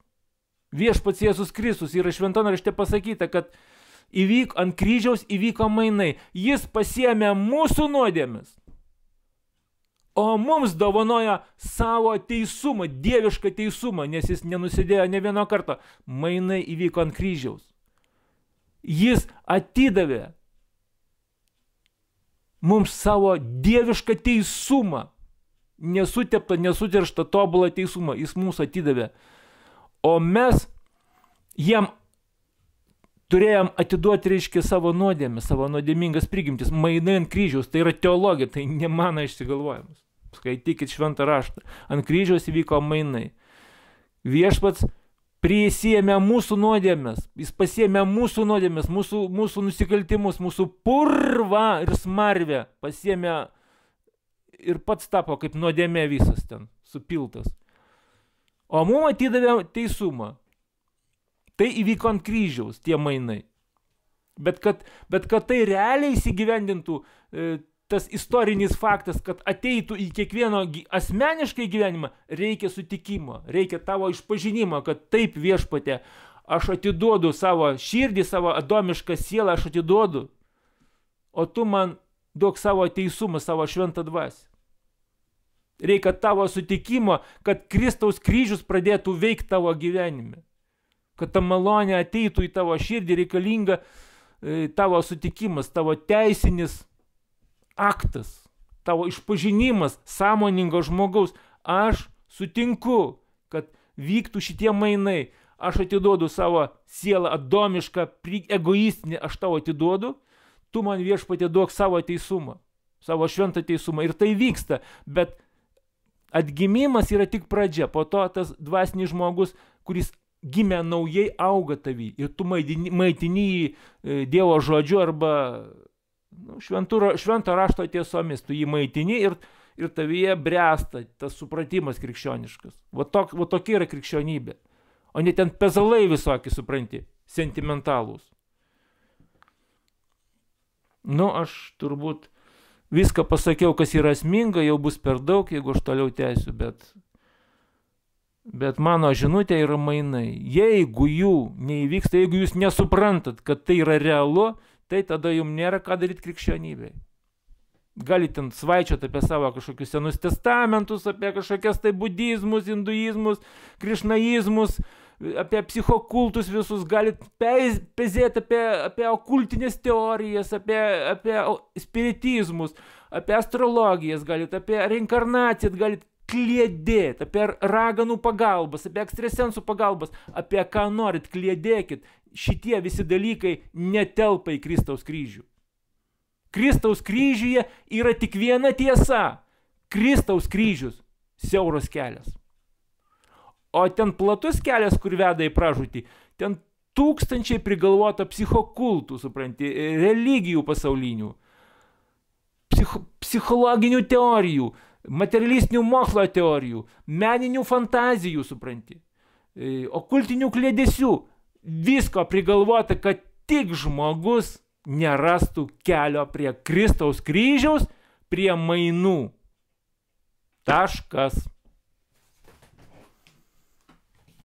Viešpats Jėzus Kristus yra šventame rašte pasakyta, kad ant kryžiaus įvyko mainai. Jis pasiėmė mūsų nuodėmes, o mums dovanoja savo teisumą, dievišką teisumą, nes jis nenusidėjo ne vieno karto. Mainai įvyko ant kryžiaus. Jis atidavė mums savo dievišką teisumą, nesuteptą, nesuterštą, tobulą teisumą. Jis mūsų atidavė. O mes jam turėjom atiduoti, reiškia, savo nuodėmę, savo nuodėmingas prigimtis. Mainai ant kryžiaus, tai yra teologija, tai ne mano išsigalvojimas. Skaitykit šventą raštą. Ant kryžiaus įvyko mainai. Viešpats prisiėmė mūsų nuodėmes, jis pasiėmė mūsų nuodėmes, mūsų nusikaltimus, mūsų purvą ir smarvę pasiėmė ir pats tapo kaip nuodėmė visas ten, supiltas. O mums atidavė teisumą. Tai įvyko ant kryžiaus, tie mainai. Bet kad tai realiai įsigyvendintų, tas istorinis faktas, kad ateitų į kiekvieno asmeniškai gyvenimą, reikia sutikimo, reikia tavo išpažinimo, kad taip viešpatė, aš atiduodu savo širdį, savo adomišką sielą, aš atiduodu, o tu man duok savo teisumą, savo šventą dvasią. Reikia tavo sutikimo, kad Kristaus kryžius pradėtų veikti tavo gyvenime. Kad ta malonė ateitų į tavo širdį, reikalinga tavo sutikimas, tavo teisinis aktas, tavo išpažinimas sąmoningo žmogaus. Aš sutinku, kad vyktų šitie mainai. Aš atiduodu savo sielą adomišką, egoistinį, aš tavo atiduodu, tu man viešpatie duok savo teisumą, savo šventą teisumą. Ir tai vyksta, bet atgimimas yra tik pradžia. Po to tas dvasinis žmogus, kuris gimė naujai, auga tavy. Ir tu maitini jį Dievo žodžiu arba švento rašto tiesomis. Tu jį maitini ir tavyje bręsta tas supratimas krikščioniškas. Va tokia yra krikščionybė. O ne ten pezalai visokie, supranti, sentimentalūs. Aš turbūt viską pasakiau, kas yra esminga, jau bus per daug, jeigu aš toliau tęsiu, bet mano žinutė yra mainai. Jeigu jų neįvyksta, jeigu jūs nesuprantat, kad tai yra realu, tai tada jums nėra ką daryti krikščionybėje. Galite ten svaičioti apie savo kažkokius senus testamentus, apie kažkokias tai budizmus, hinduizmus, krišnaizmus, apie psichokultus visus, galite pezėti apie okultinės teorijas, apie spiritizmus, apie astrologijas, galite apie reinkarnaciją, galite kliedėti, apie raganų pagalbas, apie ekstrasensų pagalbas, apie ką norit, kliedėkit. Šitie visi dalykai netelpa į Kristaus kryžių. Kristaus kryžiuje yra tik viena tiesa. Kristaus kryžius – siauras kelias. O ten platus kelias, kur veda į pražūtį, ten tūkstančiai prigalvota psichokultų, supranti, religijų pasaulinių, psichologinių teorijų, materialistinių mokslo teorijų, meninių fantazijų, supranti, okultinių kliedesių. Visko prigalvota, kad tik žmogus nerastų kelio prie Kristaus kryžiaus, prie mainų, Taškas.